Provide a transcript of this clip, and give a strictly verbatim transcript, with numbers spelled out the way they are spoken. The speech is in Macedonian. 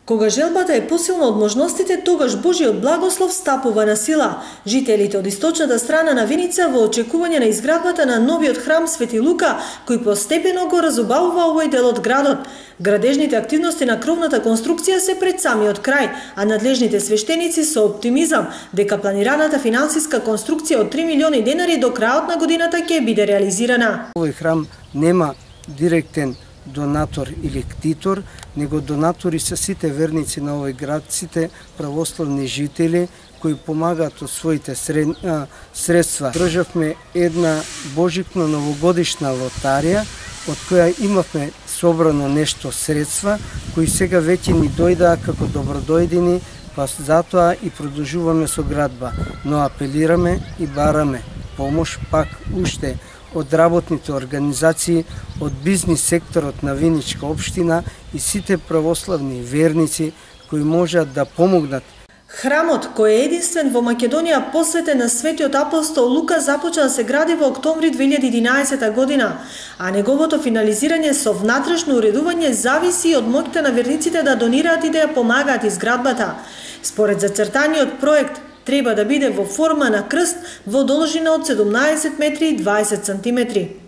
Кога желбата е посилна од можностите, тогаш Божиот благослов стапува на сила. Жителите од источната страна на Виница во очекување на изградбата на новиот храм Свети Лука, кој постепено го разубавува овој дел од градот. Градежните активности на кровната конструкција се пред самиот крај, а надлежните свештеници со оптимизам дека планираната финансиска конструкција од три милиони денари до крајот на годината ќе биде реализирана. Овој храм нема директен донатор или ктитор, него донатори се сите верници на овој град, сите православни жители кои помагаат од своите средства. Државме една божипно новогодишна лотарија, од која имавме собрано нешто средства, кои сега веќе ни дојдаа како добродојдени, па затоа и продолжуваме со градба. Но апелираме и бараме помош пак уште од работните организации, од бизнис секторот на Виничка општина и сите православни верници кои можат да помогнат. Храмот, кој е единствен во Македонија посветен на светиот апостол Лука, започна да се гради во октомври две илјади и единаесета година, а неговото финализирање со внатрешно уредување зависи од моќта на верниците да донираат и да ја помагаат изградбата. Според зацртаниот проект, треба да биде во форма на крст во должина од седумнаесет метри и дваесет сантиметри.